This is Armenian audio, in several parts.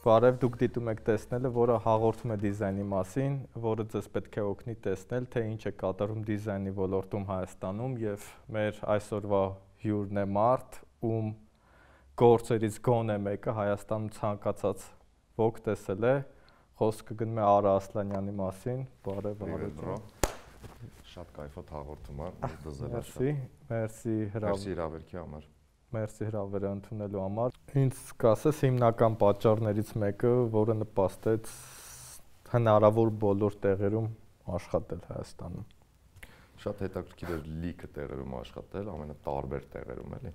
Բարև, դուք դիտում եք տեսնելը, որը հաղորդում է դիզայնի մասին, որը ձեզ պետք է օգնի տեսնել, թե ինչ է կատարում դիզայնի ոլորտում Հայաստանում եւ մեր այսօրվա հյուրն է մարդ, ում գործերից գոնե մեկը Հայաստանում ցանկացած ոք տեսել է, խոսքը գնում է Արա Ասլանյանի մասին, բարև Արա։ Շատ կայֆոտ հաղորդում է, Մերսի հրավերքի համար։ Մերսի հրավերը ընդունելու համար։ Ինձ կասես հիմնական պատճառներից մեկը, որը նպաստեց հնարավոր բոլոր տեղերում աշխատել Հայաստանում։ Շատ հետաքրքիր էր լիքը տեղերում աշխատել, ամենատարբեր տեղերում էլի,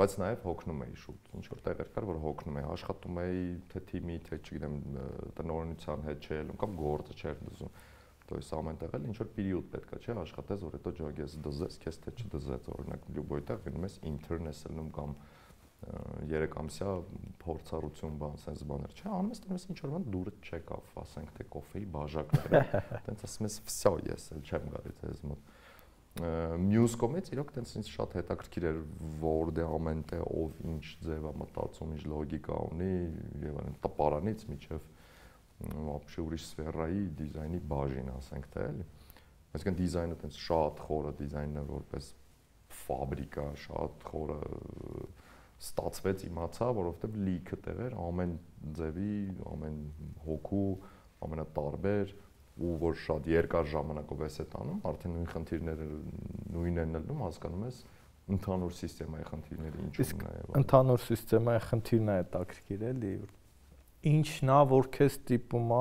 բայց նաև հոգնում էի շուտ, ինչ որ տեղեր կար, որ հոգնում էի, աշխատում էի թե թիմի, թե չգիտեմ, տնօրինության հետ չէ ելում կամ գործը չէր դզում։ То есть ամեն տեղ էլ ինչ որ պերիոդ պետքա չէ աշխատես, որ հետո ջոգես դզես, քեզ թե չդզես, օրինակ լյուբոյ տեղ գնում ես intern ես ելնում կամ 3 ամսյա փորձառություն բան, sense բաներ, չէ, անում ես տես ինչ որ բան դուրը չեկավ, ասենք թե կոֆեի բաժակները, տենց ասում ես վсё, ես էլ չեմ գալի ձեզ մոտ։ Մյուս կողմից իրոք տենց ինձ շատ հետաքրքիր էր, որ դե ամեն տեղ ով ինչ ձև է մտածում, ինչ լոգիկա ունի եւ այն տպարանից միջև вообще ուրիշ սֆերայի դիզայնի բաժին, ասենք թե էլի։ Այսինքն դիզայնը տենց շատ խորը դիզայնը որպես ֆաբրիկա, շատ խորը ստացվեց իմացա, որովհետև լիքը տեղեր ամեն ձևի, ամեն հոգու, ամենատարբեր ու որ շատ երկար ժամանակով ես այդ անում, արդեն նույն խնդիրները նույնն են ելնում, հասկանում ես ընդհանուր սիստեմայի խնդիրները ինչու՞մն է։ Ընդհանուր սիստեմայի խնդիրն է հետաքրքիր էլի։ Ինչն է, որ քեզ տիպում է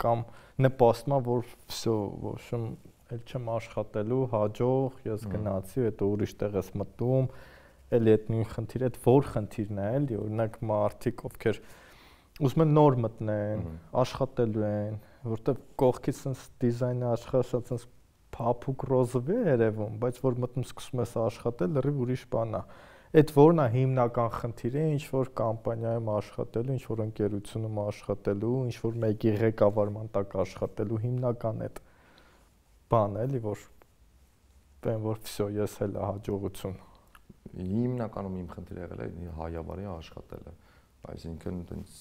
կամ նպաստում է, որ վсё, в общем, էլ չեմ աշխատելու, հաջող, ես գնացի, հետո ուրիշ տեղ ես մտնում, էլի այդ նույն խնդիրը, այդ որ խնդիրն է, էլի, օրինակ մարդիկ, ովքեր ուզում են նոր մտնեն, աշխատելու են, որտեվ կողքից sense դիզայնը աշխատած sense փափուկ ռոզովի է երևում, բայց որ մտնում սկսում ես աշխատել, լրիվ ուրիշ բան է։ Այդ որն է հիմնական խնդիրը, ինչ որ կամպանիայում աշխատելու, ինչ որ ընկերությունում աշխատելու, ինչ որ մեկի ղեկավարման տակ աշխատելու հիմնական այդ բանը էլի, որ վсё, ես էլ հաջողություն։ Հիմնականում իմ խնդիրը եղել է հայավարի աշխատելը, այսինքն այնց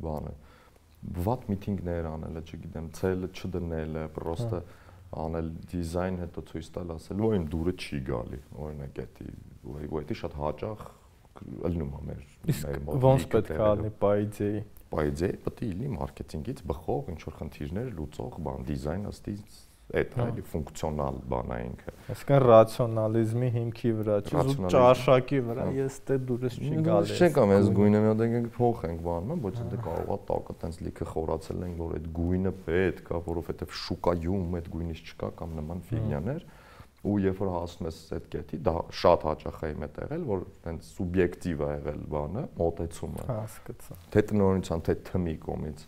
բանը, վատ միտինգներ անելը, չգիտեմ, ցելը չդնելը, պրոստը անել դիզայն հետո ցույց տալ ասել, ու իմ դուրը չի գալի, օրինակ էդի, ու էդի շատ հաճախ ելնում է մեր ոնց պետք է ալնի պայձեի։ Պայձեի պետք է լինի մարքեթինգից բխող ինչ որ խնդիրներ լուծող բան, դիզայն ըստ այդ էլի ֆունկցիոնալ բան է ինքը։ Այսինքն ռացիոնալիզմի հիմքի վրա, չէ՞ ճաշակի վրա, ես դե դուրս չի գալիս։ Չէ՞ կամ ես գույնը մի հատ ենք փոխենք բանը, ոչ դե կարող է տակը տենց լիքը խորացել ենք, որ այդ գույնը պետք է, որովհետև շուկայում այդ գույնից չկա կամ նման ֆիգնյաներ, ու երբ որ հասնում ես այդ կետի, դա շատ հաճախ է իմ հետ եղել, որ տենց սուբյեկտիվ է եղել բանը, մոտեցումը։ Հասկացա։ Թե տնօրինության, թե թմի կողմից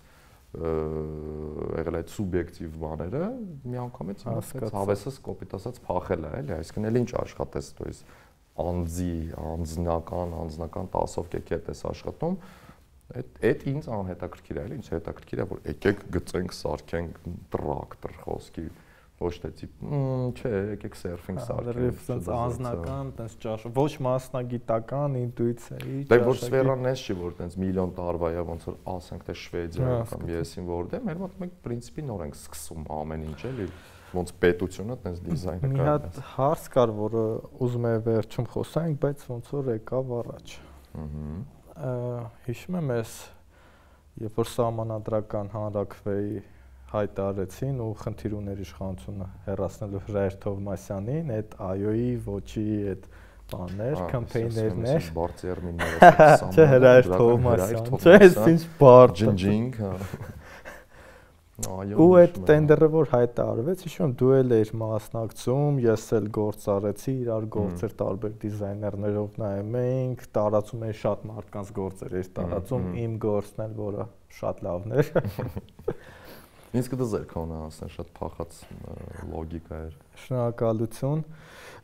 եղել այդ սուբյեկտիվ բաները միանգամից ինքս հավեսս կոպիտ ասած փախել է, էլի, այսինքն էլ ինչ աշխատես, то есть անձնական 10-ով կեքետ ես աշխատում, այդ ինձ անհետաքրքիր է, էլի, ինձ հետաքրքիր է, որ եկեք գծենք, սարքենք տրակտոր խոսքի, ոչ թե տիպ, չէ, եկեք սերֆինգ սարքենք, sense անձնական, տես ճաշ, ոչ մասնագիտական ինտուիցիայի ճաշակի։ Դե որ սֆերան էս չի, որ տես միլիոն տարվա է, ոնց որ ասենք թե Շվեդիա կամ եսին որտե, մեր մոտ մենք պրինցիպի նոր ենք սկսում ամեն ինչ էլի, ոնց պետությունը տես դիզայնը կա։ Մի հատ հարց կար, որը ուզում եմ վերջում խոսանք, բայց ոնց որ եկավ առաջ։ Հիշում եմ ես, երբ որ սահմանադրական հանրաքվեի հայտարարեցին ու խնդիր ուներ իշխանությունը հեռացնելու Հրայր Թովմասյանին, այդ այոյի ոչի այդ բաներ, կամպեյներներ, բարձերմինները, չէ Հրայր Թովմասյան, չէ, ինչ բարդ ջնջինգ, ու այդ տենդերը որ հայտարարվեց, հիշում եմ դու էլ էիր մասնակցում, ես էլ գործ արեցի, իրար գործեր տարբեր դիզայներներով նայում էինք, տարածում էի շատ մարդկանց գործեր, էր տարածում իմ գործն էլ, որը շատ լավն էր։ Ինձ կդզեր քոնը ասեն շատ փախած լոգիկա էր։ Շնորհակալություն։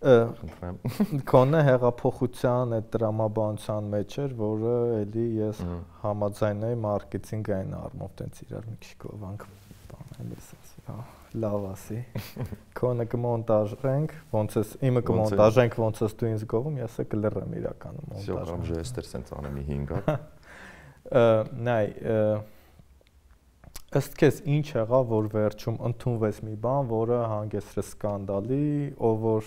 Խնդրեմ։ Քոնը հեղափոխության այդ դրամաբանության մեջ էր, որը էլի ես համաձայն էի մարքեթինգային առումով տենց իրար մի քիչ գովանք Այնպես ասի, հա, լավ ասի։ Քոնը կմոնտաժենք, ոնց էս իմը կմոնտաժենք, ոնց էս դու ինձ գովում, ես կլռեմ իրականում մոնտաժ։ Շոկամ ժեստեր սենց անեմ 5 հատ։ Նայ, ըստ քեզ ինչ եղավ, որ վերջում ընդունվեց մի բան, որը հանգեցրեց սկանդալի, ով որ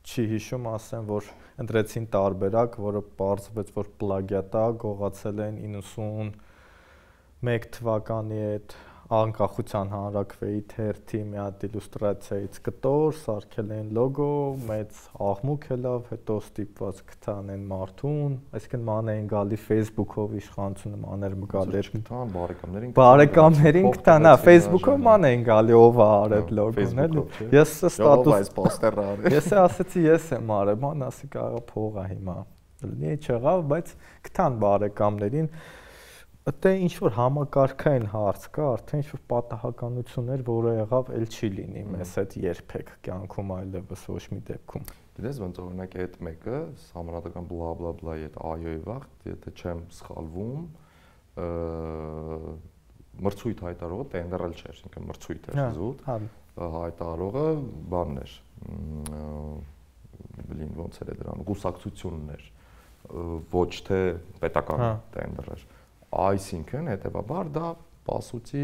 չի հիշում, ասեմ, որ ընտրեցին տարբերակ, որը պարզվեց, որ պլագիատ է, գողացել են 91 թվականի այդ անկախության հանրաքվեի թերթի մի հատ իլյուստրացիայից կտոր, սարքել են լոգո, մեծ աղմուկ ելավ, հետո ստիպված գտան են մարդուն, այսինքն ման էին գալի Facebook-ով իշխանությունը մաներ մգալ էր գտան բարեկամներին գտան, հա, Facebook-ով ման էին գալի, ով է արել լոգոն, էլի։ Ես ստատուս ես ասեցի, ես եմ արել, ման ասի կարա փողա հիմա։ Լինի չեղավ, բայց գտան բարեկամներին Ըտե ինչ-որ համակարգային հարց կա, արդեն ինչ-որ պատահականություններ, որը եղավ, էլ չի լինի մեզ հետ երբեք կյանքում այլևս ոչ մի դեպքում։ Գիտես ոնց օրինակ այդ մեկը, համանadական բլա բլա բլայի այդ այոյի վաղ, եթե չեմ սխալվում, մրցույթ հայտարարողը տենդերել չէր, ինքը մրցույթ էր զուտ, հայտարարողը բանն էր, բլին ոնց էր դրան, կուսակցությունն էր, ոչ թե պետական տենդեր էր։ Այսինքն հետեւաբար դա պասուծի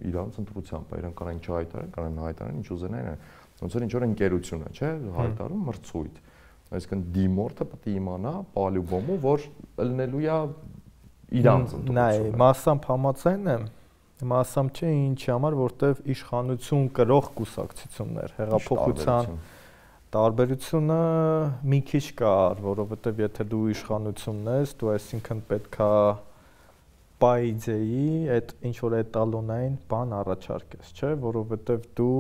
իրանց ընտրությամբ է, իրանք կանեն չհայտարարեն, կանեն հայտարարեն, ինչ ուզենային, ոնց որ ինչ-որ ընկերություն է, չէ, հայտարարում մրցույթ։ Այսինքն դիմորդը պետք է իմանա պալյուբոմու, որ ելնելու է իրանց ընտրությունը։ Նայ, մասամբ համաձայն եմ, մասամբ չէ, ինչի համար, որտեվ իշխանություն կրող կուսակցություններ, հեղափոխության տարբերությունը մի քիչ կար, որովհետեւ եթե դու իշխանությունն ես, դու այսինքն պետքա պայձեի այդ ինչ որ էտալոնային բան առաջարկես, չէ, որովհետև դու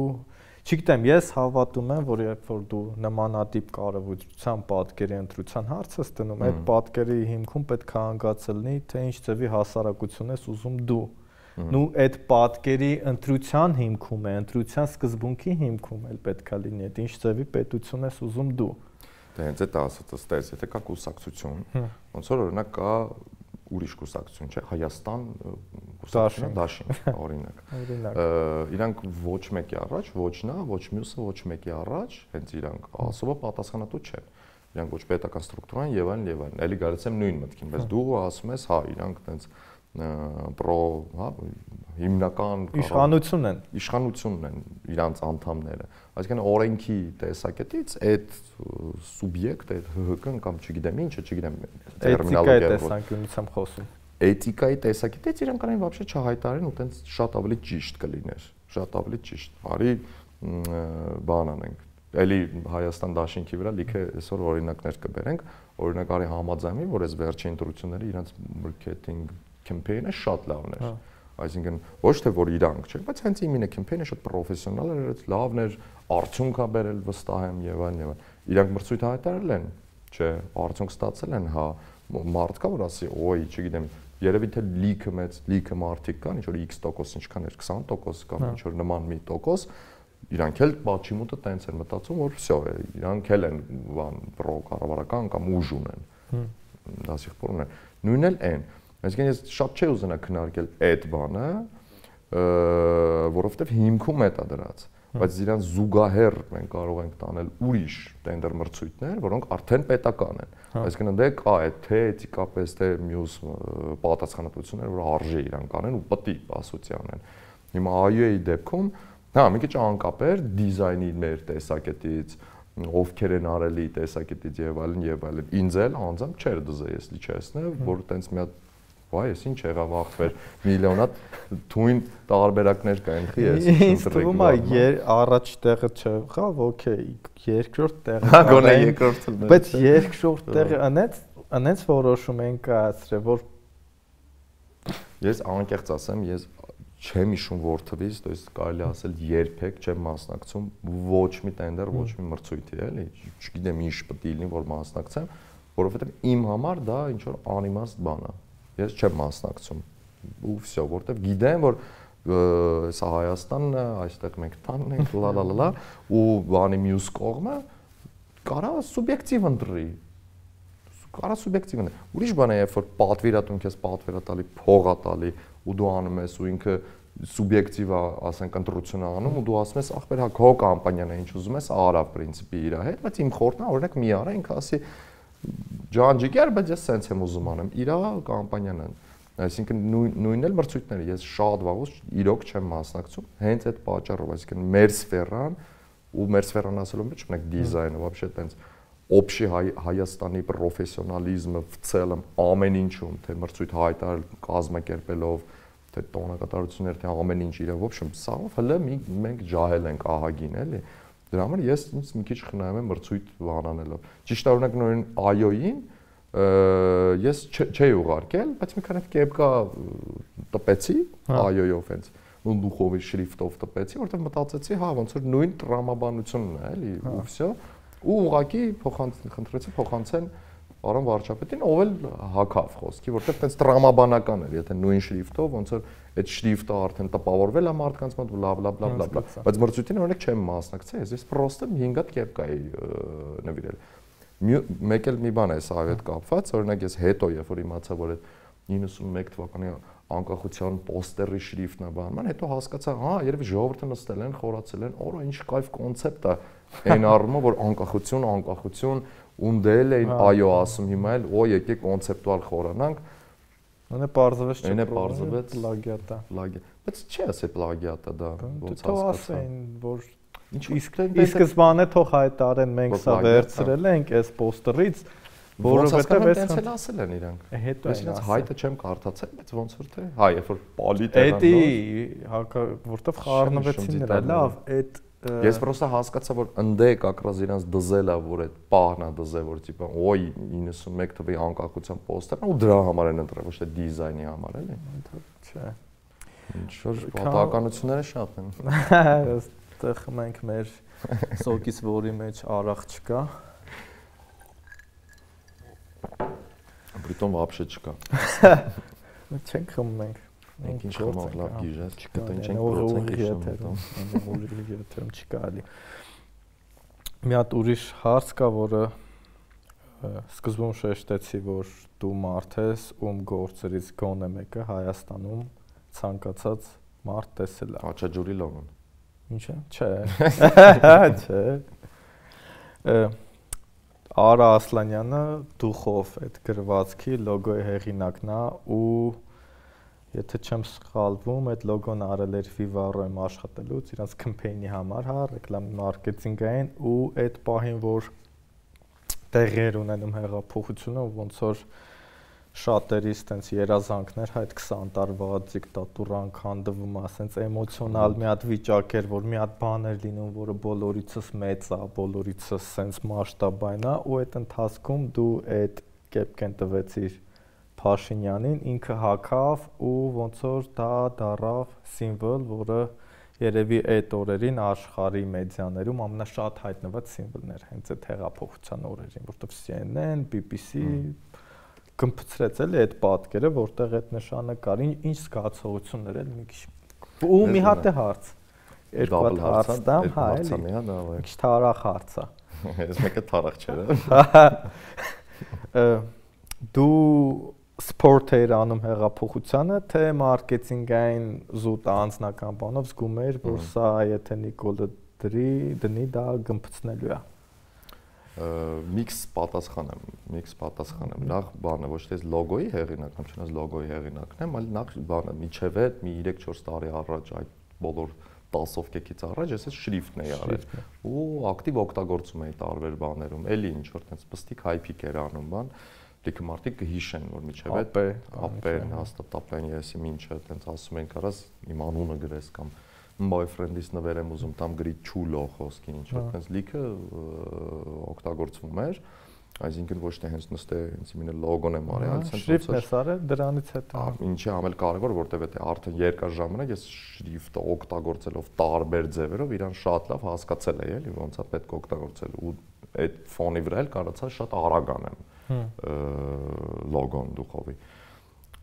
չգիտեմ, ես հավատում եմ, որ երբ որ դու նմանատիպ կարևորության պատկերի ընտրության հարց ես դնում, այդ պատկերի հիմքում պետք է հանգացել լինի, թե ինչ ձևի հասարակություն ես ուզում դու։ Նու այդ պատկերի ընտրության հիմքում է, ընտրության սկզբունքի հիմքում էլ պետք է լինի, այդ ինչ ձևի պետություն ես ուզում դու։ Դե հենց այդ ասածս, եթե կա կուսակցություն, ոնց որ օրինակ կա ուրիշ կուսակցություն, չէ, Հայաստան կուսակցությունը դաշին, օրինակ։ Իրանք ոչ մեկի առաջ, ոչ նա, ոչ մյուսը, ոչ մեկի առաջ, հենց իրանք ասոբը պատասխանատու չեն։ Իրանք ոչ պետական ստրուկտուրան եւ այլն եւ այլն։ Էլի գալիս եմ նույն մտքին, բայց դու ասում ես, հա, իրանք տենց պրո, հա, հիմնական իշխանությունն են իրանց անդամները։ Այսինքն օրենքի տեսակետից այդ սուբյեկտ, այդ ՀՀԿ-ն կամ չգիտեմ ինչը, չգիտեմ տերմինոլոգիա տեսանկյունից եմ խոսում։ Էթիկայի տեսակետից իրանք կանեն вообще չհայտարարեն ու տենց շատ ավելի ճիշտ կլիներ, շատ ավելի ճիշտ։ Արի բան անենք։ Էլի Հայաստան դաշինքի վրա լիքը այսօր օրինակներ կբերենք, օրինակ արի համաձայնվի, որ այս վերջին ընտրությունները իրանց մարքեթինգ կեմպեյնը շատ լավն էր։ Այսինքն ոչ թե որ իրանք չէ, բայց հենց իմինը կեմպեյնը շատ պրոֆեսիոնալ էր, լավն էր, արդյունք ա բերել վստահ եմ եւ այլն եւ այլն։ Իրանք մրցույթ հայտարարել են, չէ, արդյունք ստացել են, հա, մարդ կա որ ասի, օй, չգիտեմ, երևի թե լիքը մարդիկ կան, ինչ որ X% ինչքան էր, 20% կամ ինչ որ նման մի տոկոս, իրանք էլ բաչիմուտը տենց են մտածում, որ վсё, իրանք էլ են բան պրո կառավարական կամ ուժ ունեն։ Դասիղբոր ունեն։ Նույնն էլ են։ Այսինքն ես շատ չէի ուզենա քննարկել այդ բանը, որովհետև հիմքում է դա դրած, բայց իրան զուգահեռ մենք կարող ենք տանել ուրիշ տենդեր մրցույթներ, որոնք արդեն պետական են։ Այսինքն դե կա այդ թե էթիկապես թե մյուս պատասխանատվություններ, որ արժե իրան կանեն ու պետք է ասոցի անեն։ Հիմա այոյի դեպքում, հա, մի քիչ անկապ էր դիզայնի մեր տեսակետից, ովքեր են արելի տեսակետից եւ այլն եւ այլն։ Ինձ էլ անձամբ չէր դզե ես լիչեսնե, որ տենց մի հատ Վայ, ես ինչ եղավ ախպեր, միլիոնատ թույն տարբերակներ կային, խի ես ընտրեք։ Առաջ տեղը չեղավ, օքեյ, երկրորդ տեղը։ Հա, գոնե երկրորդը։ Բայց երկրորդ տեղը անենց որոշում են կայացրել, որ ես անկեղծ ասեմ, ես չեմ հիշում որթվից, то есть կարելի ասել երբեք չեմ մասնակցում ոչ մի տենդեր, ոչ մի մրցույթի, էլի, չգիտեմ ինչ պետք է լինի, որ մասնակցեմ, որովհետև իմ համար դա ինչ որ անիմաստ բան է։ Ես չեմ մասնակցում ու վсё, որտեվ գիտեմ, որ սա Հայաստանն է, այստեղ մենք տանն ենք, լալալալա ու բանի մյուս կողմը կարա սուբյեկտիվ ընտրի։ Կարա սուբյեկտիվ ընտրի։ Ուրիշ բան է, երբ որ պատվիրատուն քեզ պատվիրատալի փող է տալի ու դու անում ես ու ինքը սուբյեկտիվ ասենք ընտրություն անում ու դու ասում ես ախպեր հա քո կամպանիան է ինչ ուզում ես արա պրինցիպի իր հետ, բայց իմ խորհուրդն է օրինակ մի արա ինքը ասի ջանջիկեր, բայց ես սենց եմ ուզում անեմ։ Իր կամպանիան է։ Այսինքն նույնն էլ մրցույթները ես շատ վաղուց իրոք չեմ մասնակցում, հենց այդ պատճառով, այսինքն մեր սֆերան ու մեր սֆերան ասելով մեջ ունենք դիզայնը, вообще տենց общий Հայաստանի պրոֆեսիոնալիզմը в целом ամեն ինչում, թե մրցույթ հայտարարել կազմակերպելով, թե տոնակատարություններ, թե ամեն ինչ իրավ, в общем, սաղով հələ մենք ջահել ենք ահագին, էլի։ Դրա համար ես ինձ մի քիչ խնայում եմ մրցույթ բանանելով։ Ճիշտ է, օրինակ նույն այոյին ես չէի ուղարկել, բայց մի քանի կեպկա տպեցի այոյով հենց ու դուխովի շրիֆտով տպեցի, որտեղ մտածեցի, հա, ոնց որ նույն տրամաբանությունն է, էլի, ու վсё։ Ու ուղակի խնդրեցի փոխանցեն պարոն վարչապետին, ով էլ հակավ խոսքի, որտեղ տենց տրամաբանական էր, եթե նույն շրիֆտով, ոնց որ այդ շրիֆտը արդեն տպավորվել է մարդկանց մոտ, բլա, բայց մրցույթին օրինակ չեմ մասնակցել, ես պրոստը 5 հատ կեպկայի նվիրել։ Մեկ էլ մի բան է սա հետ կապված, օրինակ ես հետո երբ որ իմացա, որ այդ 91 թվականի անկախության պոստերի շրիֆտն է բանման, հետո հասկացա, հա, երևի ժողովուրդը նստել են, խորացել են, օր ինչ կայֆ կոնցեպտ է այն առումով, որ անկախություն ունդել էին այո ասում, հիմա էլ օ եկեք կոնցեպտուալ խորանանք։ Այնը պարզվեց չէ, պարզվեց պլագիատ է։ Բայց չի ասել պլագիատ է դա, ոնց հասկացա։ Թող ասեն, որ ի սկզբանե թող հայտարեն մենք սա վերցրել ենք այս պոստերից, որովհետև այս հենց ասել են իրանք։ Հետո ես ինձ հայտը չեմ կարդացել, բայց ոնց որ թե, հա, երբ որ պալիտ է դա։ Էդի, որտեվ խառնվեցին նրա, լավ, այդ ես պրոստը հասկացա, որ ընդե կակրազ իրանց դզել է, որ այդ պահն է դզել, որ տիպը օй 91 թվի անկախության պոստերն ու դրա համար են ընտրել, ոչ թե դիզայնի համար, էլի։ Չէ։ Ինչ որ պատահականությունները շատ են։ Այստեղ մենք մեր սոկից որի մեջ արախ չկա։ Բրիտոն вообще չկա։ Չենք խմում մենք։ Մենք ինչ խմող լավ գիժես, չկտա ինչ ենք procent չկա ալի։ Մի հատ ուրիշ հարց կա, որը սկզբում շեշտեցի, որ դու մարդ ես, ում գործերից գոնե մեկը Հայաստանում ցանկացած մարդ տեսել է։ Աչաջուրի լոգոն։ Ինչ է։ Չէ։ Չէ։ Արա Ասլանյանը դուխով այդ գրվածքի լոգոյի հեղինակն է ու եթե չեմ սխալվում, այդ լոգոն արել էր Vivarro-ում աշխատելուց, իրանց կամպեյնի համար, հա, ռեկլամ մարքեթինգային ու այդ պահին, որ տեղեր ունենում հեղափոխությունը, ոնց որ շատերից տենց երազանքներ, հա, այդ 20 տարվա դիկտատուրան քանդվում, ասենց էմոցիոնալ մի հատ վիճակ էր, որ մի հատ բան էր լինում, որը բոլորիցս մեծ է, բոլորիցս սենց մասշտաբային է, ու այդ ընթացքում դու այդ կեպկեն տվեցիր Փաշինյանին, ինքը հակավ ու ոնց որ դա դարավ սիմվոլ, որը երևի այդ օրերին աշխարհի մեդիաներում ամենաշատ հայտնված սիմվոլն էր, հենց այդ հեղափոխության օրերին, որտեղ CNN, BBC կմփցրեց էլի այդ պատկերը, որտեղ այդ նշանը կար, ինչ զգացողություններ էլ մի քիչ։ Ու մի հատ է հարց։ Երկու հատ հարց տամ, հա, էլի։ Ինչ թարախ հարց է։ Ես մեկը թարախ չէ։ Դու սպորտ էիր անում հեղափոխությանը, թե մարքեթինգային զուտ անձնական բանով զգում էիր, որ սա եթե Նիկոլը դնի դա գմփցնելու է։ Միքս պատասխան եմ։ Նախ բանը ոչ թե լոգոյի հեղինակն եմ, չնայած լոգոյի հեղինակն եմ, այլ նախ բանը միջև է մի 3-4 տարի առաջ այդ բոլոր տասովկեքից առաջ ես այս շրիֆտն էի արել ու ակտիվ օգտագործում էի տարբեր բաներում, էլի ինչ որ տենց պստիկ հայփիկ էր անում բան, լիքը մարդիկ կհիշեն, որ միջև է ապեն, հաստատ ապեն եսի ինչը տենց ասում են կարաս իմ անունը գրես կամ boyfriend-ից նվեր եմ ուզում տամ գրի չուլո խոսքին ինչ որ տենց լիքը օգտագործվում էր, այսինքն ոչ թե հենց նստե հենց իմինը լոգոն եմ արել, այլ շրիֆտն է արել դրանից հետո։ Ինչի ամել կարևոր, որտեվ եթե արդեն երկար ժամանակ ես շրիֆտը օգտագործելով տարբեր ձևերով իրան շատ լավ հասկացել էի, էլի ոնց է պետք օգտագործել ու այդ ֆոնի վրա էլ կարողացա շատ արագ անեմ լոգոն դուխովի։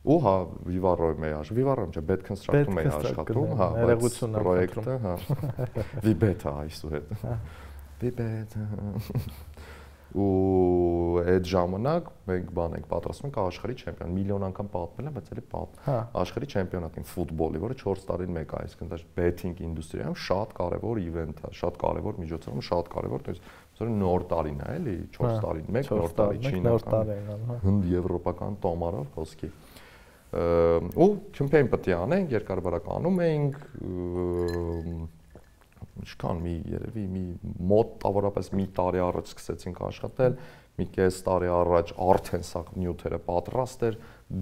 Ու հա Vivarro-ում էի աշխատում, Vivarro-ում չէ, Bed Construct-ում էի աշխատում, հա, ներողություն պրոյեկտը, հա։ Vibeta այսուհետ։ Vibeta։ ու այդ ժամանակ մենք բան ենք պատրաստում ենք աշխարհի չեմպիոն, միլիոն անգամ պատմել եմ, բայց էլի աշխարհի չեմպիոնատին ֆուտբոլի, որը 4 տարին մեկ է, այսինքն դա betting ինդուստրիայում շատ կարևոր իվենթ է, շատ կարևոր միջոցառում, շատ կարևոր, то есть նոր տարին է, էլի 4 տարին մեկ, նոր տարի չինական, հնդ եվրոպական տոմարով խոսքի։ Ու չեմպիոն պետք է անենք, երկարաբարակ անում ենք, ինչքան մի երևի մի մոտ տավորապես մի տարի առաջ սկսեցինք աշխատել, մի կես տարի առաջ արդեն սա նյութերը պատրաստ էր,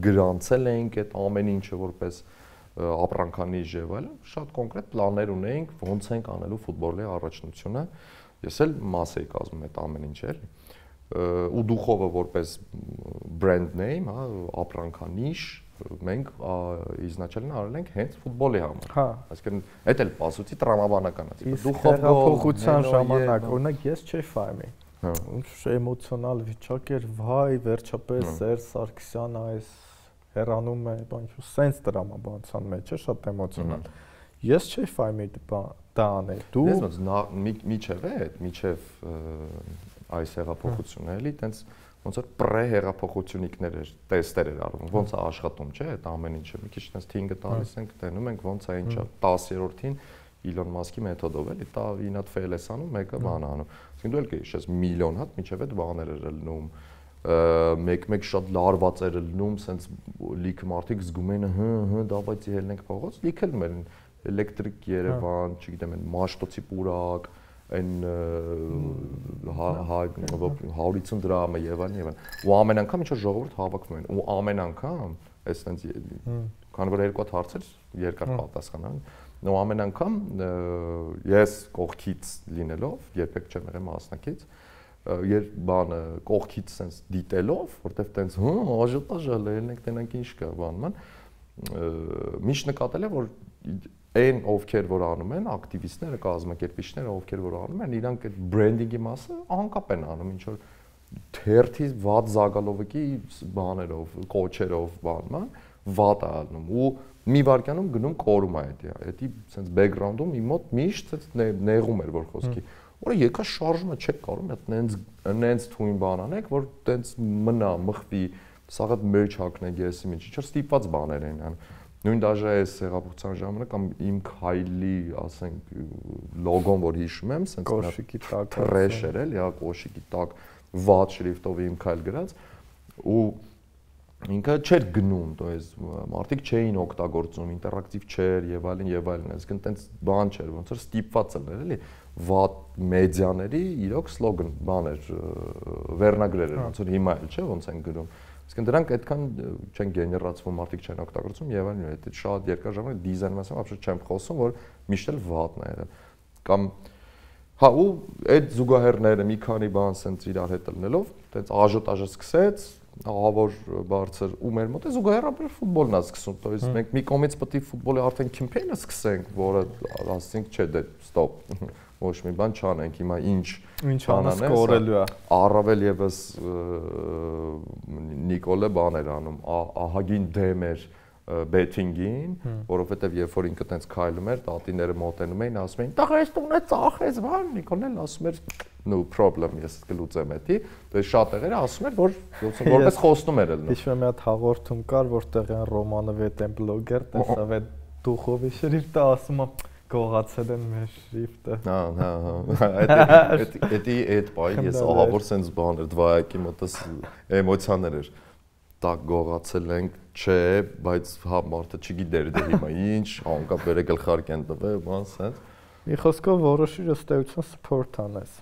գրանցել էինք այդ ամեն ինչը որպես ապրանքանիշ եւ այլն, շատ կոնկրետ պլաններ ունեինք, ոնց ենք անելու ֆուտբոլի առաջնությունը։ Ես էլ մաս էի կազմում այդ ամեն ինչը, էլի։ Ու դուխովը որպես brand name, հա, ապրանքանիշ մենք իզначально արել ենք հենց ֆուտբոլի համար։ Հա։ Այսինքն, այդ էլ պասուցի տրամաբանական է։ Դուխով փոխության ժամանակ, օրինակ ես չէի ֆայմի։ Ինչ էմոցիոնալ վիճակ էր, վայ, վերջապես Սերժ Սարգսյանը այս հեռանում է, բան ինչ, սենց տրամաբանության մեջ է, շատ էմոցիոնալ։ Ես չէի ֆայմի դա անել։ Դու ես ոնց միջև է, միջև այս հեղափոխությունը էլի, տենց ոնց որ պրե-հեղափոխությունիկներ էր, տեստեր էր արվում, ոնց է աշխատում, չէ՞, այդ ամեն ինչը։ Մի քիչ տենց թինգը տալիս ենք, տենում ենք ոնց է ինչա 10-րդին Իլոն Մասկի մեթոդով էլի, տա 9 հատ ֆեյլ ես անում, մեկը բան անում։ Այսինքն դու էլ կհիշես միլիոն հատ միջև այդ բաներ էր լնում, մեկ-մեկ շատ լարված էր լնում, սենց լիքը մարդիկ զգում էին, դավայցի ելնենք փողոց, լիքը լում էին էլեկտրիկ Երևան, չգիտեմ, այն Մաշտոցի պուրակ, այն 150 դրամը եւ այլն։ Ու ամեն անգամ ինչ որ ժողովուրդ հավաքվում են, ու ամեն անգամ այս տենց քանի որ երկու հատ հարցեր երկար պատասխանան, ու ամեն անգամ ես կողքից լինելով, երբեք չեմ եղել մասնակից, երբ բանը կողքից sense դիտելով, որտեվ տենց աժոտաժ ելնենք տենանք ինչ կա բանման, միշտ նկատել եմ որ այն ովքեր որ անում են, ակտիվիստները, կազմակերպիչները, ովքեր որ անում են, իրանք այդ բրենդինգի մասը անկապ են անում, ինչ որ թերթի վատ զագալովիկի բաներով, կոչերով բանման, վատ է անում ու մի վարքանում գնում կորում է դա sense background-ում մի մոտ միշտ նեղում էր որ խոսքի որը եկա շարժումը չեք կարող նենց թույն բան անեք որ տենց մնա մխվի սաղ այդ մեջ հակնեք եսի ինչ որ ստիպված բաներ են ան նույն դաժե այս հեղափոխության ժամանակ կամ իմ քայլի ասենք լոգոն որ հիշում եմ sense կոշիկի տակ տրեշեր էլ հա կոշիկի տակ վատ շրիֆտով իմ քայլ գրած ու ինքը չէր գնում, то есть մարդիկ չէին օգտագործում, ինտերակտիվ չէր եւ այլն, այսինքն տենց բան չէր, ոնց որ ստիպված էր էլի, վատ մեդիաների իրոք սլոգան բաներ, վերնագրեր էր, ոնց որ հիմա էլ չէ, ոնց են գրում։ Այսինքն դրանք այդքան չեն գեներացվում, մարդիկ չեն օգտագործում եւ այլն, այդ շատ երկար ժամանակ դիզայնի մասին ապշուտ չեմ խոսում, որ միշտ էլ վատն է եղել։ Կամ հա ու այդ զուգահեռները մի քանի բան սենց իրար հետ լնելով, տենց աժոտաժը սկսեց ահավոր բարձր ու մեր մոտ է զուգահեռաբար ֆուտբոլն է սկսում, то есть մենք մի կողմից պետք է ֆուտբոլի արդեն կեմպեյնը սկսենք, որը ասենք չէ դե ստոպ, ոչ մի բան չանենք, հիմա ինչ անես կորելու է։ Առավել եւս Նիկոլը բաներ անում, ահագին դեմ էր betting-ին, որովհետեւ երբ որ ինքը տենց քայլում էր, տատիները մոտենում էին, ասում էին՝ «Տղա, այս տունը ծախես, բան»։ Նիկոլն էլ ասում էր՝ «No problem, ես կլուծեմ էդի»։ Դե շատ տեղերը ասում էր, որ որպես խոստում էր ելնում։ Հիշում եմ մի հատ հաղորդում կար, որտեղ այն Ռոմանովի այդ են բլոգեր, տեսավ այդ Դուխովի շրիֆտը ասում է գողացել են մեր շրիֆտը։ Հա, այդ պահին ես ահավոր sense բան էր, դվայակի մոտս էմոցիաներ էր։ Տակ գողացել ենք, չէ, բայց հա մարդը չգիտեր դե հիմա ինչ, անկապ վերե գլխարկ են տվել, բան sense։ Մի խոսքով որոշիր ըստեյություն support անես։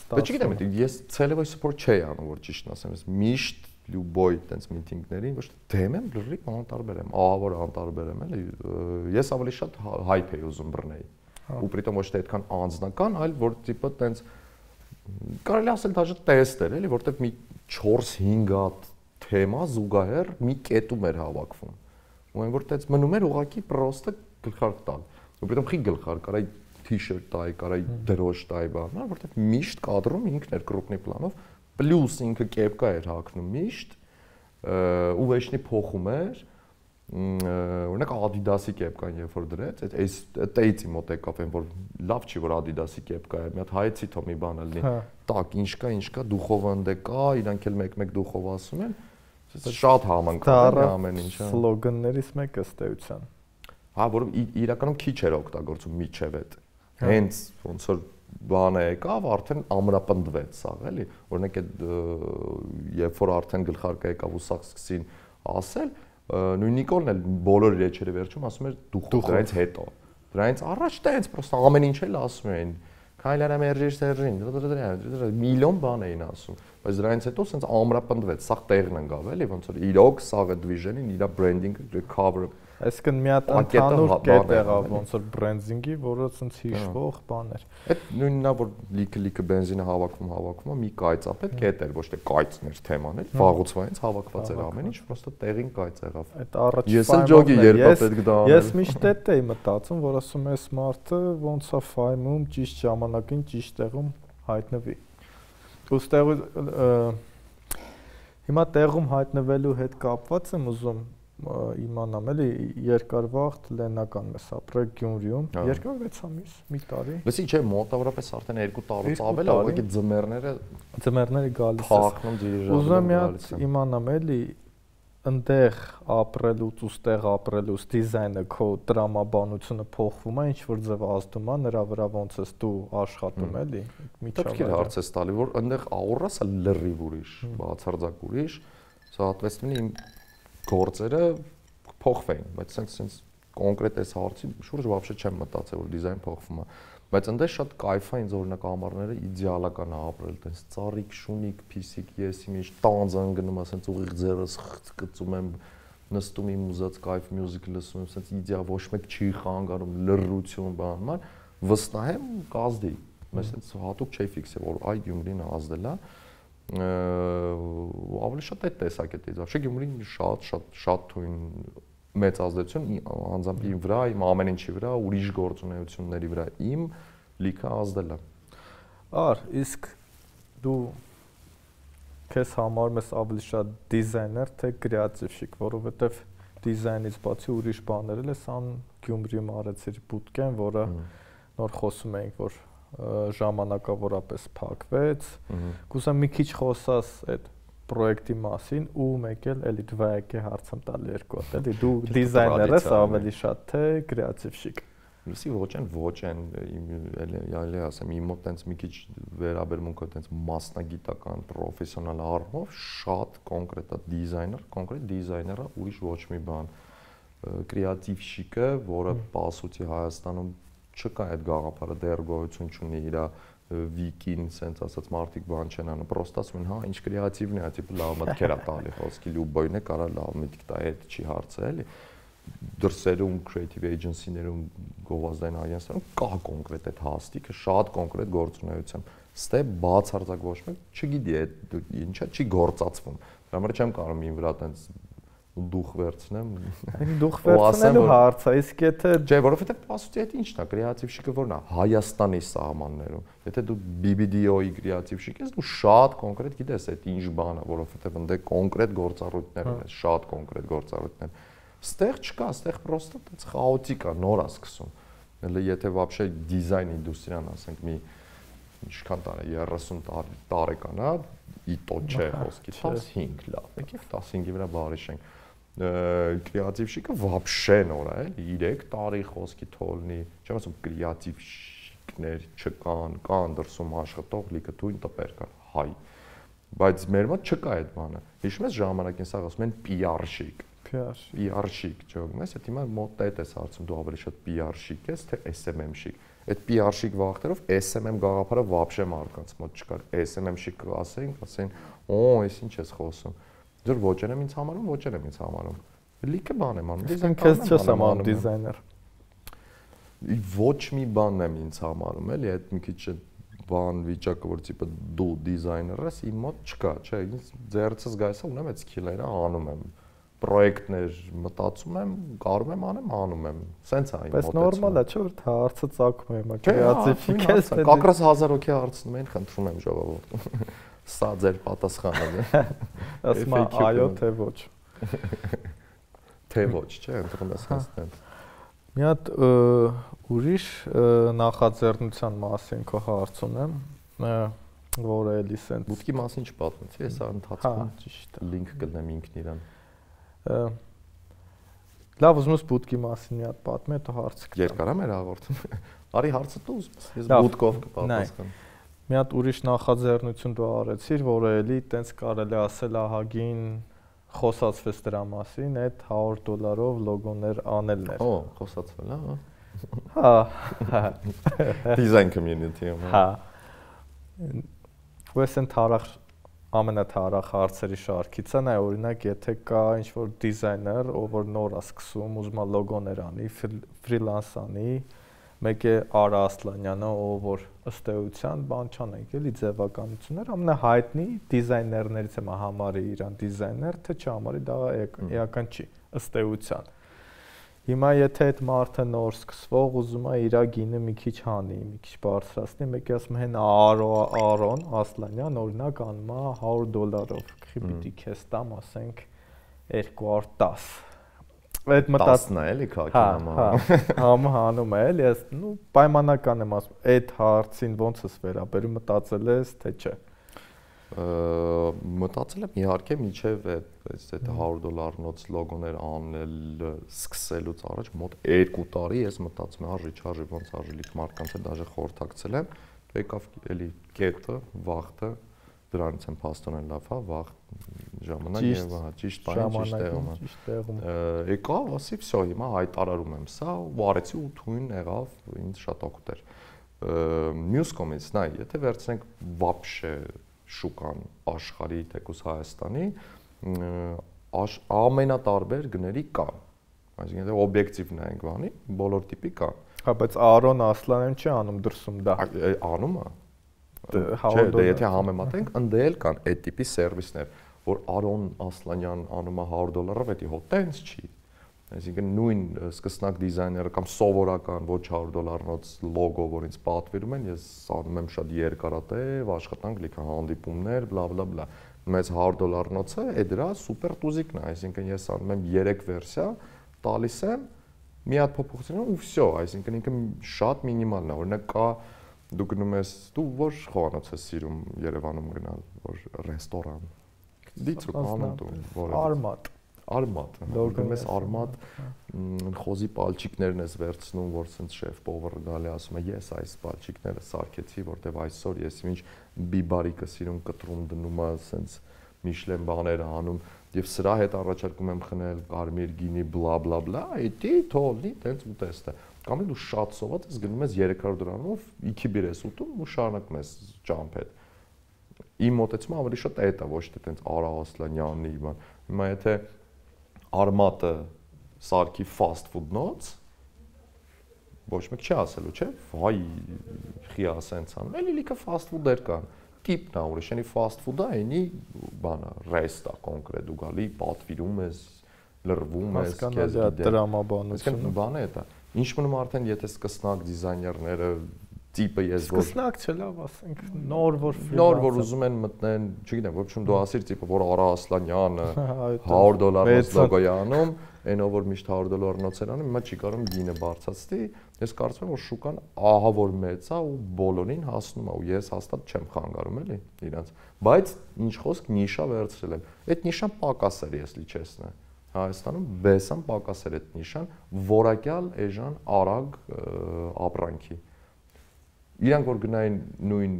Բայց չգիտեմ, ես ցելեվայ support չէի անում, որ ճիշտն ասեմ, ես միշտ լյուբոյ տենց միտինգներին ոչ թե դեմ եմ, լրիվ անտարբեր եմ, ահավոր անտարբեր եմ, էլի։ Ես ավելի շատ հայփ էի ուզում բռնեի։ Ու պրիտոմ ոչ թե այդքան անձնական, այլ որ տիպը տենց կարելի ասել դաժե տեստեր, էլի, որտեղ մի 4-5 հատ թեմա զուգահեռ մի կետում էր հավաքվում։ Ու այն որ տենց մնում էր ուղակի պրոստը գլխարկ տալ։ Ու պրիտոմ խի գլխարկ կարայի t-shirt տայի, կարայի դրոշ տայի բան, որտեղ միշտ կադրում ինքն էր կրուպնի պլանով, պլյուս ինքը կեպկա էր հագնում միշտ, ու վեշնի փոխում էր, օրինակ Adidas-ի կեպկան երբ որ դրեց, այս տեյցի մոտ եկավ այն որ լավ չի որ Adidas-ի կեպկա է, մի հատ հայեցի թո մի բան լինի, տակ ինչ կա, դուխովը ընդ կա, իրանք էլ մեկ-մեկ դուխով ասում են, շատ համընկնում է ամեն ինչը։ Սլոգաններից մեկը ըստ էության։ Հա, որը իրականում քիչ էր օգտագործում միջև այդ։ Հենց ոնց որ բանը եկավ, արդեն ամրապնդվեց սա, էլի։ Օրինակ այդ երբ որ արդեն գլխարկը եկավ ու սա սկսին ասել, նույն Նիկոլն էլ բոլոր իր էջերը վերջում ասում էր դուխով, դրանից հետո։ Դրանից առաջ դա հենց պրոստը ամեն ինչ էլ ասում էին։ Քայլարա մերժիր Սերժին, միլիոն բան էին ասում, բայց դրանից հետո սենց ամրապնդվեց, սա տեղն ընկավ, էլի, ոնց որ իրոք սաղը դվիժենին, իր բրենդինգը, cover-ը Այսինքն մի հատ ընդհանուր կետ եղավ ոնց որ բրենդինգի, որը ցենց հիշվող բան էր։ Այդ նույնն է որ լիքը բենզինը հավաքում, մի կայծապետ կետ էր, ոչ թե կայծներ թեման էր, վաղուցվայից հավաքված էր ամեն ինչ, պրոստը տեղին կայծ եղավ։ Այդ առաջ ես էլ ջոգի երբ պետք դա անել։ Ես միշտ այդ էի մտածում, որ ասում ես մարդը ոնց է ֆայմում ճիշտ ժամանակին ճիշտ տեղում հայտնվի։ Ոստեղ հիմա տեղում հայտնվելու հետ կապված եմ ուզում իմանամ էլի երկարվաղտ լենական մեզ ապրել Գյումրիում երկար 6 ամիս մի տարի լսի չէ մոտավորապես արդեն 2 տարուց ավել է ուղղակի ձմեռները գալիս է փախնում դիրիժանը ուզում եմ մի հատ իմանամ էլի ընդեղ ապրելուց ու ստեղ ապրելուց դիզայնը քո տրամաբանությունը փոխվում է ինչ որ ձև ազդում է նրա վրա ոնց ես դու աշխատում էլի միջավայրը հարց է տալի որ ընդեղ աուրասը լրիվ ուրիշ բացարձակ ուրիշ соответственно իմ գործերը փոխվեին, բայց sense կոնկրետ այս հարցի շուրջ вообще չեմ մտածել որ դիզայն փոխվում է, բայց այնտեղ շատ կայֆ է ինձ օրինակ ամառները իդեալական է ապրել, տես ծառիկ, շունիկ, փիսիկ, ես իմիջ տանձան գնում, ասենց ուղիղ ձեռս գծում եմ, նստում իմ ուզած կայֆ մյուզիկ լսում եմ, sense իդեալ ոչ մեկ չի խանգարում, լրրություն բանման, վստահ եմ կազդի, բայց sense հատուկ չի ֆիքսել որ այ Գյումրին ազդել է ավելի շատ այդ տեսակետից вообще Գյումրին շատ թույն մեծ ազդեցություն անձամբ իմ վրա, իմ ամեն ինչի վրա, ուրիշ գործունեությունների վրա իմ լիքը ազդել է։ Ար, իսկ դու քեզ համարում ես ավելի շատ դիզայներ, թե կրեատիվщик, որովհետև դիզայնից բացի ուրիշ բաներ էլ ես ան Գյումրիում արեցիր բուտկեն, որը նոր խոսում էինք, որ ժամանակավորապես փակվեց։ Կուզեմ մի քիչ խոսաս այդ պրոյեկտի մասին ու մեկ էլ էլի դվայեկի հարցում տալ երկու հատ, էլի դու դիզայներ ես ավելի շատ թե կրեատիվщик։ Լսի ոչ են, էլի ասեմ, իմ մոտ տենց մի քիչ վերաբերմունքը տենց մասնագիտական, պրոֆեսիոնալ առումով շատ կոնկրետ է կոնկրետ դիզայները ուրիշ ոչ մի բան։ Կրեատիվщикը, որը պասուտի Հայաստանում չկա այդ գաղափարը դեռ գոյություն չունի իր վիկին, sense ասած մարդիկ բան չեն անում, պրոստը ասում են, հա, ինչ կրեատիվն է, տիպը լավ մտքեր է տալի, խոսքի լուբոյն է, կարա լավ միտք տա, այդ չի հարցը, էլի։ Դրսերում creative agency-ներում գովազդային агентствերում կա կոնկրետ այդ հաստիկը, շատ կոնկրետ գործունեությամբ։ Ստե բացարձակ ոչ մեկ չգիտի այդ ինչա չի գործածվում։ Դրա համար չեմ կարող իմ վրա տենց դուխ վերցնեմ։ Դուխ վերցնելու հարց է, իսկ եթե չէ, որովհետև պասուտի այդ ինչն է, կրեատիվщикը որն է, Հայաստանի սահմաններում։ Եթե դու BBDO-ի կրեատիվщик ես, դու շատ կոնկրետ գիտես այդ ինչ բան է, որովհետև ընդ կոնկրետ գործառույթներ ունես, շատ կոնկրետ գործառույթներ։ Ստեղ չկա, ստեղ պրոստը այդպես խաոտիկ է, նոր է սկսում։ Էլ եթե вообще դիզայն ինդուստրիան, ասենք մի ինչքան տարի 30 տարեկան է, իտո չէ խոսքի 15 լավ, եկեք 15-ի վրա բարիշենք։ Կրեատիվщикը вообще նոր է, էլի 3 տարի խոսքի թողնի, չեմ ասում կրեատիվщикներ չկան, կան դրսում աշխատող լիքը թույն տպեր կան, հայ։ Բայց մեր մոտ չկա այդ բանը։ Հիշում ես ժամանակին սա ասում են PR-щик։ PR-щик, ճոգում ես, հիմա մոտ այդ էս հարցում դու ավելի շատ PR-щик ես, թե SMM-щик։ Այդ PR-щик վախտերով SMM գաղափարը вообще մարդկանց մոտ չկար։ SMM-щик ասեն, օ, այս ինչ ես խոսում։ Ձեր ոչեն եմ ինձ համարում, ոչեն եմ ինձ համարում։ Լիքը բան եմ անում։ Դիզայն քեզ չես համարում դիզայներ։ Ոչ մի բան եմ ինձ համարում, էլի այդ մի քիչ բան վիճակը, որ տիպը դու դիզայներ ես, իմ մոտ չկա, չէ, ինձ ձեռցս գայսա ունեմ այդ սկիլերը, անում եմ։ Պրոյեկտներ մտածում եմ, կարող եմ անում եմ։ Սենց է իմ մոտեցումը։ Բայց նորմալ է, չէ՞ որ հարցը ծագում է, հիմա կրեատիվщик ես։ Կակրաս 1000 հոգի հարցնում են, խնդրում եմ ժողովուրդ։ Սա ձեր պատասխանն է։ Ասում այո թե ոչ։ Թե ոչ, չէ, ընտրում ես assistant։ Մի հատ ուրիշ նախաձեռնության մասին քո հարց ունեմ, որը էլի սենց Բուտկի մասին չպատմեցի, հեսա ընթացքում ճիշտ լինք կդնեմ ինքն իրան։ Լավ, ուզում ես բուտկի մասին մի հատ պատմի, հետո հարց կտամ։ Երկար է մեր հաղորդում։ Արի հարցը դու ուզում ես, ես բուտկով կպատասխանեմ։ Մի հատ ուրիշ նախաձեռնություն դու արեցիր, որը էլի տենց կարելի ասել ահագին խոսացվեց դրա մասին, այդ $100 լոգոներ անելն էր։ Օ, խոսացվել, հա։ Հա։ Design community-ում։ Հա։ Ոեսն թարախ ամենաթարախ հարցերի շարքից է, նայ օրինակ, եթե կա ինչ-որ դիզայներ, ով որ նոր է սկսում, ուզում է լոգոներ անի, ֆրիլանս անի, մեկ է Արա Ասլանյանը, ով որ ըստ էության բան չանենք, էլի ձևականություններ, ամենահայտնի դիզայներներից եմ համարի իրան դիզայներ, թե չհամարի, դա էական չի, ըստ էության։ Հիմա եթե այդ մարդը նոր սկսվող ուզում է իր գինը մի քիչ հանի, մի քիչ բարձրացնի, մեկը ասում հեն Արոն Ասլանյան օրինակ անում է $100-ով, պիտի քեզ տամ, ասենք 210։ Այդ մտածն է էլի քաքի համը հանում է էլի, ես նու պայմանական եմ ասում, այդ հարցին ոնց ես վերաբերում, մտածել ես թե չէ։ Մտածել եմ իհարկե միջև այդ $100-նոց լոգոներ անել սկսելուց առաջ մոտ 2 տարի ես մտածում եմ արժի ոնց արժելիք մարդկանց հետ դաժե խորհրդակցել եմ, եկավ էլի կետը, վախտը, դրանից եմ փաստորեն լավ, հա, վաղ ժամանակ եւ հա ճիշտ բանը ճիշտ տեղում։ Եկավ, ասի, վсё, հիմա հայտարարում եմ սա, ու արեցի ու թույն եղավ, ինձ շատ օգուտ էր։ Մյուս կողմից, նայ, եթե վերցնենք вообще շուկան աշխարհի թեկուս Հայաստանի ամենատարբեր գների կան։ Այսինքն եթե օբյեկտիվ նայենք բանի, բոլոր տիպի կան։ Հա, բայց Արոն Ասլանյան չի անում դրսում դա։ Անում է։ Չէ, դե եթե համեմատենք, ընդ էլ կան այդ տիպի սերվիսներ, որ Արոն Ասլանյան անում է $100-ով, դա հո տենց չի։ Այսինքն նույն սկսնակ դիզայները կամ սովորական ոչ $100-նոց լոգո, որ ինձ պատվիրում են, ես անում եմ շատ երկարատև աշխատանք, լիքը հանդիպումներ, բլա։ Մեծ $100-նոցը է դրա սուպեր տուզիկն է, այսինքն ես անում եմ 3 վերսիա, տալիս եմ, մի հատ փոփոխություն ու վсё, այսինքն ինքը շատ մինիմալն է, օրինակ կա դու գնում ես, դու որ խոհանոց ես սիրում Երևանում գնալ, որ ռեստորան։ Դիցու անում դու, որ Արմատ, գնում ես Արմատ, խոզի պալչիկներն ես վերցնում, որ սենց շեֆ պովերը գալի ասում է, ես այս պալչիկները սարքեցի, որտեվ այսօր ես ինչ բիբարիկը սիրում կտրում դնում է, սենց Միշլեն բաներ անում, եւ սրա հետ առաջարկում եմ խնել կարմիր գինի, բլա, էդի թողնի, տենց ուտեստ է։ Կամ դու շատ սոված ես գնում ես $300-ով, իքի բիր ես ուտում ու շարունակում ես ճամփետ։ Իմ մոտեցումը ավելի շատ այդ է, ոչ թե տենց Արա Ասլանյանի բան։ Հիմա եթե Արմատը սարքի fast food-նոց ոչ մեկ չի ասելու, չէ՞, վայ, խիա սենց անում։ Էլի լիքը fast food-եր կան։ Տիպն է, ուրիշ էնի fast food-ը, էնի բանը, ռեստա կոնկրետ դու գալի, պատվիրում ես, լրվում ես, քեզ դրամաբանություն։ Իսկ բանը է դա։ Ինչ մնում արդեն եթե սկսնակ դիզայներները տիպը ես որ սկսնակ չէ, լավ ասենք, նոր որ ուզում են մտնեն, չգիտեմ, ոչմ դու ասիր տիպը որ Արա Ասլանյանը $100-նոց լոգո է անում, այնով որ միշտ $100-նոց էր անում, հիմա չի կարող գինը բարձրացնի, ես կարծում եմ որ շուկան ահա որ մեծ է ու բոլորին հասնում է ու ես հաստատ չեմ խանգարում էլի իրանց, բայց ինչ խոսք նիշա վերցրել եմ, այդ նիշան պակաս էր ես լիչեսն է Հայաստանում բեսան պակաս էր այդ նիշան, որակյալ էժան արագ ապրանքի Իրանք որ գնային նույն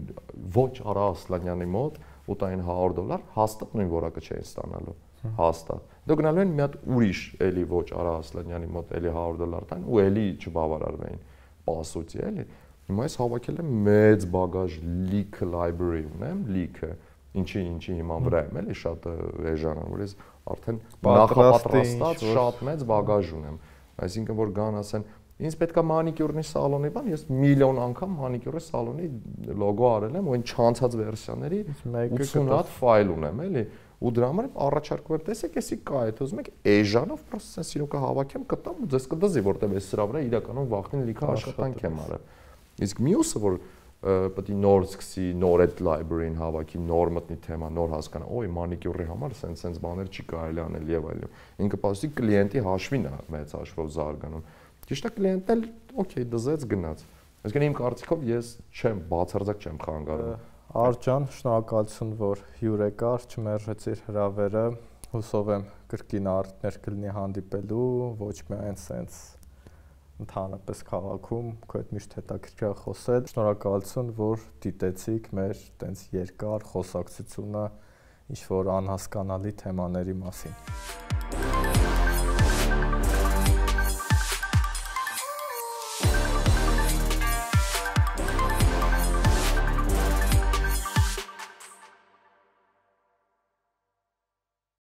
ոչ Արա Ասլանյանի մոտ ու տային $100, հաստատ նույն որակը չէին ստանալու, հաստատ։ Դու գնալու են մի հատ ուրիշ էլի ոչ Արա Ասլանյանի մոտ էլի $100 տան ու էլի չբավարարվեին, պասուծի էլի։ Հիմա ես հավաքել եմ մեծ բագաժ լիքը library ունեմ, լիքը, ինչի հիման վրա եմ էլի շատ էժան, որ ես արդեն նախապատրաստած շատ մեծ բագաժ ունեմ։ Այսինքն որ գան ասեն Ինձ պետքա մանիկյուրնի սալոնի բան, ես միլիոն անգամ մանիկյուրի սալոնի լոգո արել եմ, ու այն չանցած վերսիաների 80 հատ ֆայլ ունեմ, էլի, ու դրա համար առաջարկում եմ, տեսեք, էսի կա, եթե ուզում եք էժանով պրոստը սենս իրոք հավաքեմ, կտամ ու ձեզ կդզի, որտեղ ես սրա վրա իրականում վախտին լիքը աշխատանք եմ արել։ Իսկ մյուսը որ պետք է նոր սկսի, նոր այդ library-ին հավաքի, նոր մտնի թեմա, նոր հասկանա, օй, մանիկյուրի համար սենց բաներ չի կարելի անել եւ այլն։ Ինքը պասի կլիենտի հաշվին է մեծ հաշվով զարգանում։ Ճիշտ է, կլիենտն էլ օքեյ դզեց գնաց։ Այսինքն իմ կարծիքով ես չեմ բացարձակ չեմ խանգարում։ Արջան, շնորհակալություն, որ հյուր եկար, չմերժեցիր հրավերը։ Հուսով եմ կրկին առիթներ կլինի հանդիպելու, ոչ միայն սենց ընդհանրապես քաղաքում, քո հետ միշտ հետաքրքիր է խոսել։ Շնորհակալություն, որ դիտեցիք մեր տենց երկար խոսակցությունը ինչ որ անհասկանալի թեմաների մասին։